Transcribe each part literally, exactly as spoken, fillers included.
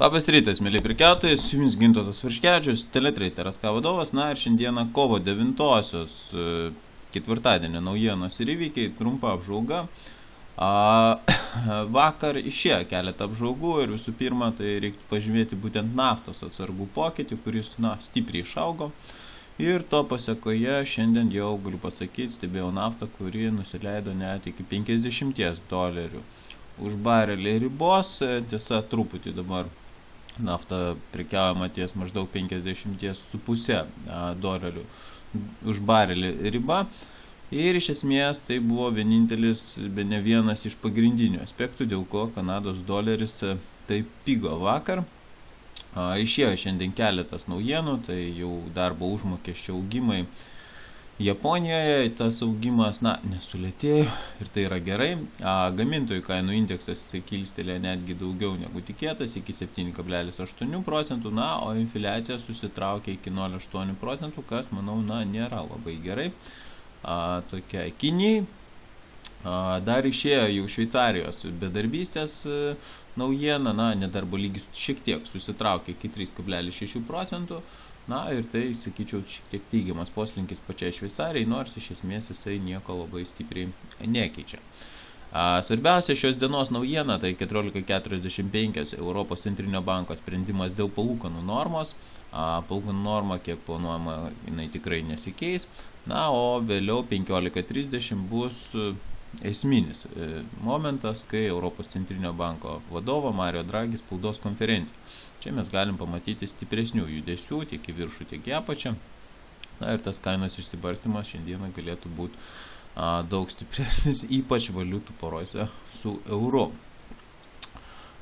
Labas rytas, mėly prekiautojai, su jumis Gintautas Varškevičius, Teletrader S K vadovas. Na ir šiandieną kovo devintosios ketvirtadienio naujienos ir įvykiai, trumpa apžvalga. A, vakar išėjo keletą apžvalgų ir visų pirma, tai reiktų pažymėti būtent naftos atsargų pokytį, kuris na, stipriai išaugo. Ir to pasekoje šiandien jau galiu pasakyti, stebėjau naftą, kuri nusileido net iki penkiasdešimties dolerių už barelį ribos. Tiesa, truputį dabar nafta prekiaujama ties maždaug penkiasdešimt su puse dolerių už barelį riba. Ir iš esmės tai buvo vienintelis, be ne vienas iš pagrindinių aspektų, dėl ko Kanados doleris taip pigo vakar. Išėjo šiandien keletas naujienų, tai jau darbo užmokesčio augimai Japonijoje, tas augimas, na, nesulėtėjo ir tai yra gerai. Gamintojų kainų indeksas kilstelė netgi daugiau negu tikėtas, iki septyni kablelis aštuoni procentų, na, o infliacija susitraukė iki nol kablelis aštuoni procentų, kas, manau, na, nėra labai gerai. A, tokia Kinijai. A, dar išėjo jau Šveicarijos bedarbystės naujiena, na, nedarbo lygis šiek tiek susitraukė iki trys kablelis šeši procentų. Na ir tai, sakyčiau, šiek tiek teigiamas poslinkis pačiai Šveicarijai, nors iš esmės jisai nieko labai stipriai nekeičia. A, svarbiausia šios dienos naujiena, tai keturiolika keturiasdešimt penki Europos centrinio banko sprendimas dėl palūkanų normos. A, palūkanų norma, kiek planuojama, jinai tikrai nesikeis. Na, o vėliau penkiolika trisdešimt bus esminis momentas, kai Europos centrinio banko vadovo Mario Draghi spaudos konferencija. Čia mes galim pamatyti stipresnių judesių tiek į viršų, tiek į apačią. Na ir tas kainos išsibarstymas šiandieną galėtų būti a, daug stipresnis, ypač valiutų porose su euru.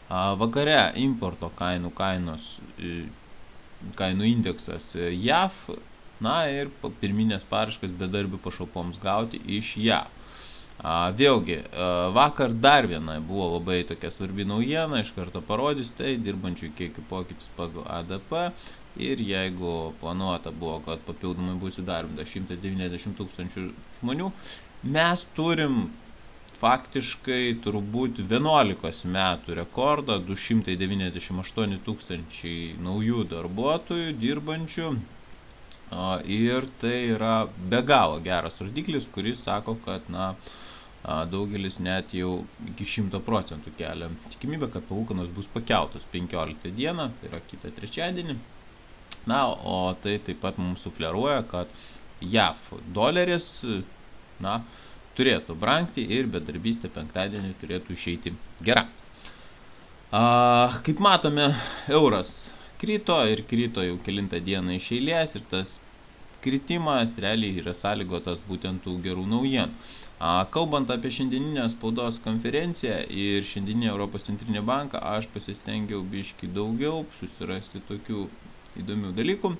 A, vakare importo kainų kainos, kainų indeksas J A V, na ir pirminės paraiškas bedarbių pašalpoms gauti iš J A V. A, vėlgi, a, vakar dar viena buvo labai tokia svarbi naujiena, iš karto parodys, tai dirbančių kiekių pokytis pagal A D P ir jeigu planuota buvo, kad papildomai bus įdarbinta šimtas devyniasdešimt tūkstančių žmonių, mes turim faktiškai turbūt vienuolikos metų rekordą, du šimtai devyniasdešimt aštuoni tūkstančiai naujų darbuotojų dirbančių. A, ir tai yra be galo geras rodiklis, kuris sako, kad na, daugelis net jau iki šimto procentų kelia tikimybę, kad palūkanos bus pakeltos penkioliktą dieną, tai yra kitą trečiadienį. Na, o tai taip pat mums sufleruoja, kad J A V doleris na, turėtų brangti ir bedarbystė penktadienį turėtų išeiti gera. A, kaip matome, euras krito ir krito jau kelintą dieną iš eilės ir tas kritimas realiai yra sąlygotas būtent tų gerų naujienų. A, kalbant apie šiandieninę spaudos konferenciją ir šiandieninį Europos centrinį banką, aš pasistengiau biškį daugiau susirasti tokių įdomių dalykų.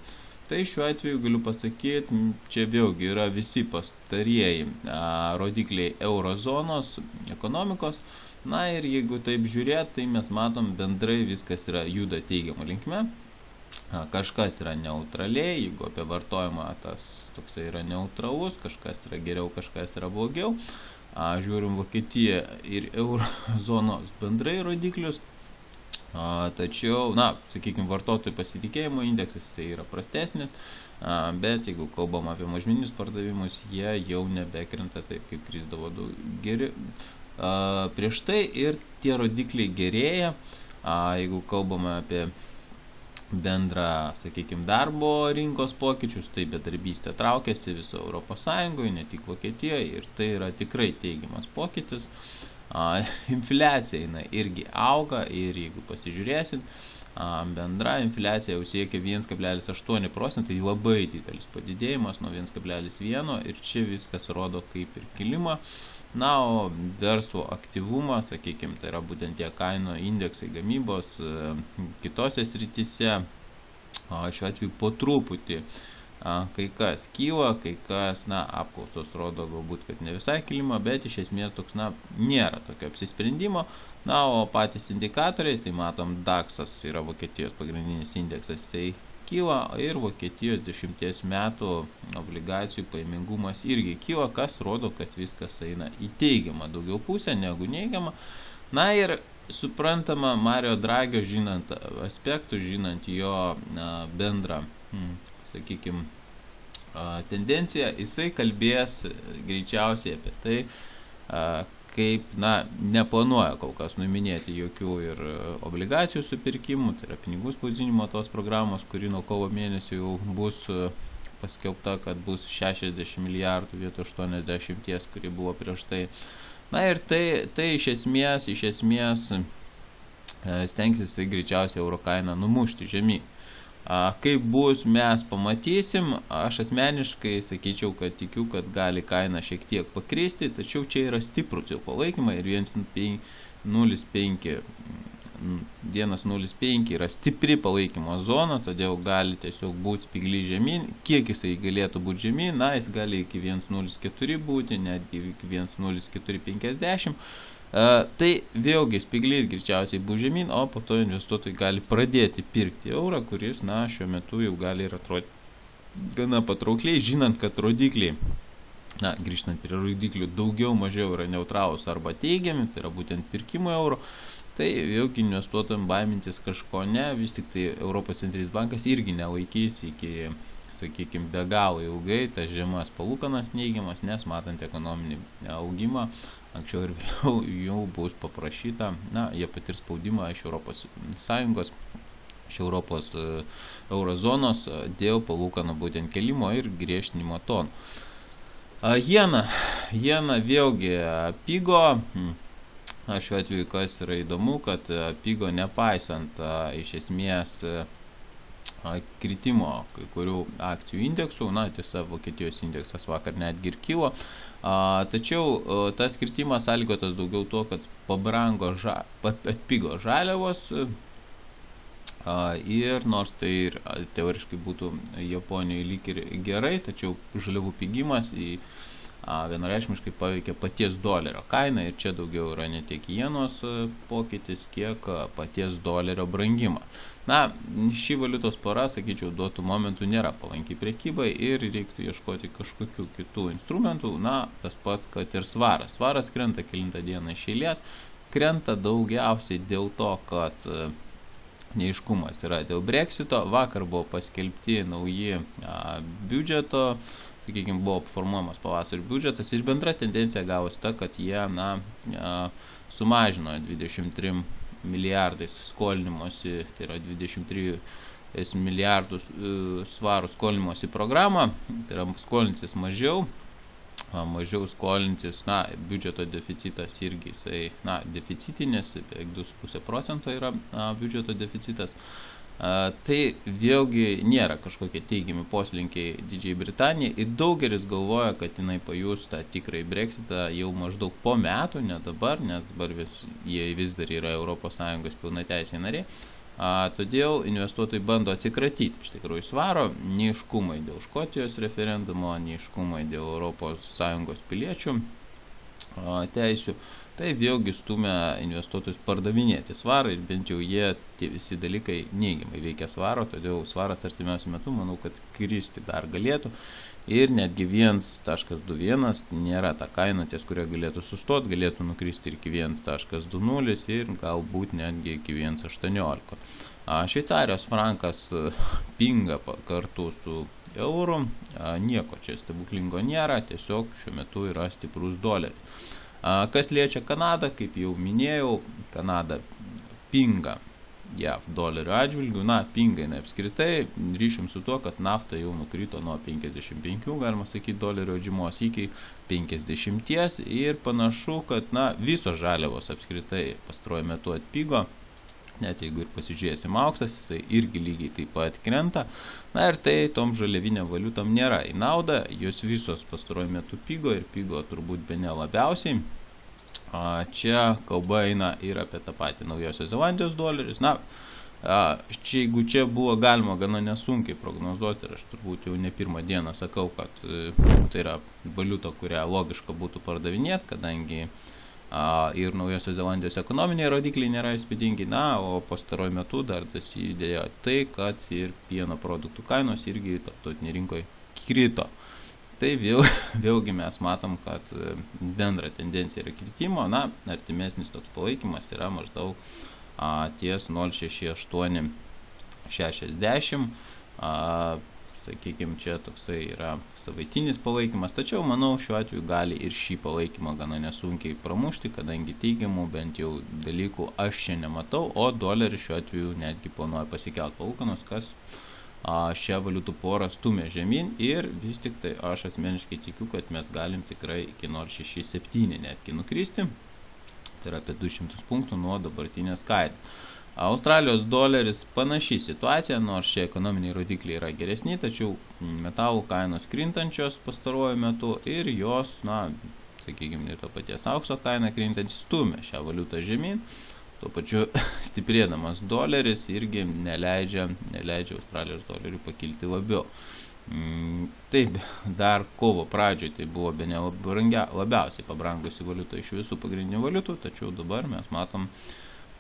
Tai šiuo atveju galiu pasakyti, čia vėlgi yra visi pastarieji a, rodikliai eurozonos ekonomikos. Na ir jeigu taip žiūrėt, tai mes matom bendrai viskas yra juda teigiamą linkme. Kažkas yra neutraliai, jeigu apie vartojimą tas toksai yra neutralus, kažkas yra geriau, kažkas yra blogiau. A, žiūrim Vokietiją ir eurozonos bendrai rodiklius. A, tačiau, na, sakykime, vartotojų pasitikėjimo indeksas tai yra prastesnis, a, bet jeigu kalbam apie mažmeninius pardavimus, jie jau nebekrenta taip, kaip krisdavo daug geri. A, prieš tai ir tie rodikliai gerėja, a, jeigu kalbame apie bendrą, sakykime, darbo rinkos pokyčius, tai bedarbystė traukiasi viso Europos Sąjungoje, ne tik Vokietijoje, ir tai yra tikrai teigiamas pokytis. A, infliacija jinai irgi auga ir jeigu pasižiūrėsit, a, bendra infliacija jau siekia vienas kablelis aštuoni procentai, tai labai didelis padidėjimas nuo vienas kablelis vieno ir čia viskas rodo kaip ir kilimą. Na, o verslo aktyvumas, sakykime, tai yra būtent tie kainų indeksai gamybos e, kitose srityse, o šiuo atveju po truputį a, kai kas kyla, kai kas, na, apklausos rodo galbūt, kad ne visai kilimą, bet iš esmės toks, na, nėra tokio apsisprendimo. Na, o patys indikatoriai, tai matom, daksas yra Vokietijos pagrindinis indeksas, tai kyla ir Vokietijos dešimties metų obligacijų pajamingumas irgi kyla, kas rodo, kad viskas eina į teigiamą daugiau pusę negu neigiamą. Na ir suprantama, Mario Dragio žinant aspektų, žinant jo bendrą, sakykime, tendenciją, jisai kalbės greičiausiai apie tai, kaip, na, neplanuoja kol kas numinėti jokių ir obligacijų supirkimų, tai yra pinigų spausdinimo tos programos, kuri nuo kovo mėnesio jau bus paskelbta, kad bus šešiasdešimt milijardų vietoj aštuoniasdešimt, kuri buvo prieš tai. Na ir tai, tai iš esmės, iš esmės stengsis tai greičiausiai euro kainą numušti žemyn. Kaip bus, mes pamatysim. Aš asmeniškai sakyčiau, kad tikiu, kad gali kaina šiek tiek pakristi, tačiau čia yra stiprus jau palaikymai ir vienas nulis penki yra stipri palaikymo zona, todėl gali tiesiog būti spigli žemyn. Kiek jisai galėtų būti žemyn? Na, jis gali iki vienas nulis keturi būti, netgi iki vienas nulis keturi penkiasdešimt. Uh, tai vėlgi spigli greičiausiai bus žemyn, o po to investuotojai gali pradėti pirkti eurą, kuris, na, šiuo metu jau gali ir atrodyti gana patraukliai, žinant, kad rodikliai, na, grįžtant prie rodiklių, daugiau mažiau yra neutralūs arba teigiami, tai yra būtent pirkimo euro. Tai vėlgi investuotojams baimintis kažko ne, vis tik tai Europos centrinis bankas irgi nelaikys iki, sakykime, be galo ilgai tas žemas palūkanas neigiamas, nes matant ekonominį augimą, anksčiau ir vėliau jau bus paprašyta, na, jie patirs spaudimą iš Europos Sąjungos, iš Europos uh, eurozonos uh, dėl palūkanų būtent kelimo ir griežtinimo tonų. Uh, jena, jena vėlgi pigo. Hmm. Šiuo atveju, kas yra įdomu, kad pigo nepaisant iš esmės kritimo kai kurių akcijų indeksų, na, tiesa, Vokietijos indeksas vakar netgi ir kilo, tačiau tas kritimas sąlygotas daugiau to, kad pabrango, ža, atpigo žaliavos ir nors tai ir teoriškai būtų Japonijoje lyg ir gerai, tačiau žaliavų pigimas į vienareikšmiškai paveikia paties dolerio kainą ir čia daugiau yra ne tiek jenos pokytis, kiek paties dolerio brangimą. Na, ši valiutos pora, sakyčiau, duotų momentų nėra palankiai prekybai ir reiktų ieškoti kažkokių kitų instrumentų. Na, tas pats, kad ir svaras. Svaras krenta kelintą dieną iš eilės, krenta daugiausiai dėl to, kad neaiškumas yra dėl Brexito. Vakar buvo paskelbti nauji a, biudžeto, sakykime, buvo formuojamas pavasario biudžetas ir bendra tendencija gavosi ta, kad jie, na, a, sumažino dvidešimt trim milijardais skolinimuose, tai yra dvidešimt tris milijardus svarų skolinimosi programą, tai yra skolinsis mažiau, mažiau skolinsis, na, biudžeto deficitas irgi, jisai, na, deficitinis, beveik du su puse procento yra na, biudžeto deficitas. A, tai vėlgi nėra kažkokie teigiami poslinkiai Didžiai Britanijai ir daugelis galvoja, kad jinai pajus tą tikrai Brexitą jau maždaug po metų, ne dabar, nes dabar vis, jie vis dar yra Europos Sąjungos pilnateisiai nariai. A, todėl investuotojai bando atsikratyti iš tikrųjų svaro, neiškumai dėl Škotijos referendumo, neiškumai dėl Europos Sąjungos piliečių a, teisių. Tai vėlgi stumia investuotojus pardavinėti svarą ir bent jau jie tie visi dalykai neigiamai veikia svaro, todėl svaras artimiausiu metu, manau, kad kristi dar galėtų ir netgi vienas taškas du vienas nėra ta kaina, ties kurio galėtų sustoti, galėtų nukristi ir iki vienas taškas du nulis ir galbūt netgi iki vienas aštuoniolika. Šveicarijos frankas pinga kartu su euru, nieko čia stebuklingo nėra, tiesiog šiuo metu yra stiprus doleris. Kas liečia Kanadą, kaip jau minėjau, Kanada pinga J A V dolerio atžvilgių, na, pinga jinai apskritai, ryšim su tuo, kad nafta jau nukrito nuo penkiasdešimt penkių, galima sakyti, dolerio žymos iki penkiasdešimt ir panašu, kad, na, visos žaliavos apskritai pastaruoju metu atpigo. Net jeigu ir pasižiūrėsim auksas, jisai irgi lygiai taip pat krenta. Na ir tai tom žaliavinėm valiutom nėra į naudą, jos visos pastaruoju metu pigo ir pigo turbūt bene labiausiai. Čia kalba eina ir apie tą patį Naujosios Zelandijos doleris. Na, čia, jeigu čia buvo galima gana nesunkiai prognozuoti, ir aš turbūt jau ne pirmą dieną sakau, kad tai yra valiuta, kurią logiška būtų pardavinėti, kadangi ir Naujosios Zelandijos ekonominiai rodikliai nėra įspūdingi, na, o pastaruoju metu dar tas įdėjo tai, kad ir pieno produktų kainos irgi tarptautinėje rinkoje krito. tai vėl, vėlgi mes matom, kad bendra tendencija yra kritimo, na, artimesnis toks palaikymas yra maždaug a, ties nol šeši aštuoni šešiasdešimt, a, sakykime, čia toksai yra savaitinis palaikymas, tačiau manau šiuo atveju gali ir šį palaikymą gana nesunkiai pramušti, kadangi teigiamų bent jau dalykų aš čia nematau, o doleris šiuo atveju netgi planuoja pasikelt palūkanos, kas a, šią valiutų porą stumia žemyn ir vis tik tai aš asmeniškai tikiu, kad mes galim tikrai iki nol šeši septyni netgi nukristi, tai yra apie du šimtus punktų nuo dabartinės kainos. Australijos doleris panaši situacija, nors šie ekonominiai rodikliai yra geresni, tačiau metalų kainos krintančios pastaruoju metu ir jos, na, sakykime, to paties aukso kaina krintantys stumia šią valiutą žemyn, tuo pačiu stiprėdamas doleris irgi neleidžia, neleidžia Australijos dolerių pakilti labiau. Taip, dar kovo pradžioje tai buvo bene labiausiai pabrangusi valiuta iš visų pagrindinių valiutų, tačiau dabar mes matom,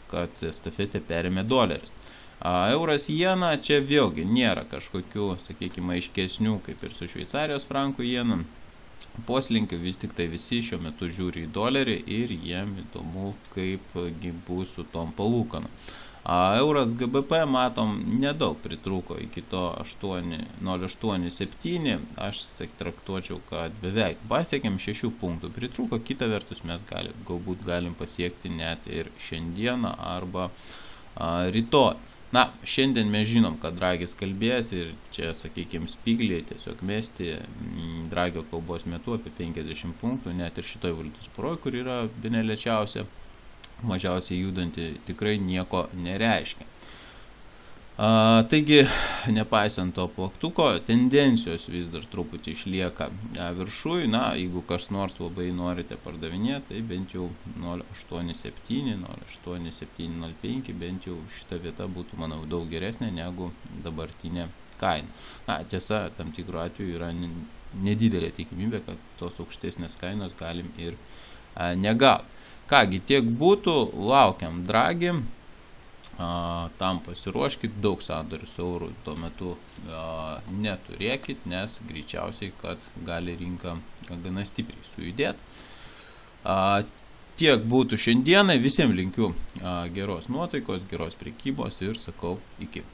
kad estafetę perėmė doleris. A, euras jena čia vėlgi nėra kažkokių, sakykime, aiškesnių, kaip ir su Šveicarijos frankų jena. Poslinkių vis tik tai visi šiuo metu žiūri į dolerį ir jiem įdomu, kaip bus su tom palūkanom. Euras G B P, matom, nedaug pritrūko iki to nol aštuoni septyni, aš traktuočiau, kad beveik pasiekėm šešių punktų pritrūko, kita vertus mes gali, galbūt galim pasiekti net ir šiandieną arba a, rytoj. Na, šiandien mes žinom, kad Dragis kalbės ir čia, sakykime, spigliai tiesiog mesti Dragio kalbos metu apie penkiasdešimt punktų, net ir šitoj valiutos poroj, kur yra bene lėčiausia, mažiausiai judanti, tikrai nieko nereiškia. A, taigi, nepaisant to plaktuko, tendencijos vis dar truputį išlieka viršui. Na, jeigu kas nors labai norite pardavinėti, tai bent jau nol aštuoni septyni, nol aštuoni septyni nol penki, bent jau šita vieta būtų, manau, daug geresnė negu dabartinė kaina. Na, tiesa, tam tikrų atveju yra nedidelė tikimybė, kad tos aukštesnės kainos galim ir a, negauti. Kągi, tiek būtų, laukiam Dragį, a, tam pasiruoškit, daug sandorių su eurų tuo metu a, neturėkit, nes greičiausiai, kad gali rinka gana stipriai sujudėti. A, tiek būtų šiandieną, visiems linkiu a, geros nuotaikos, geros prekybos ir sakau iki.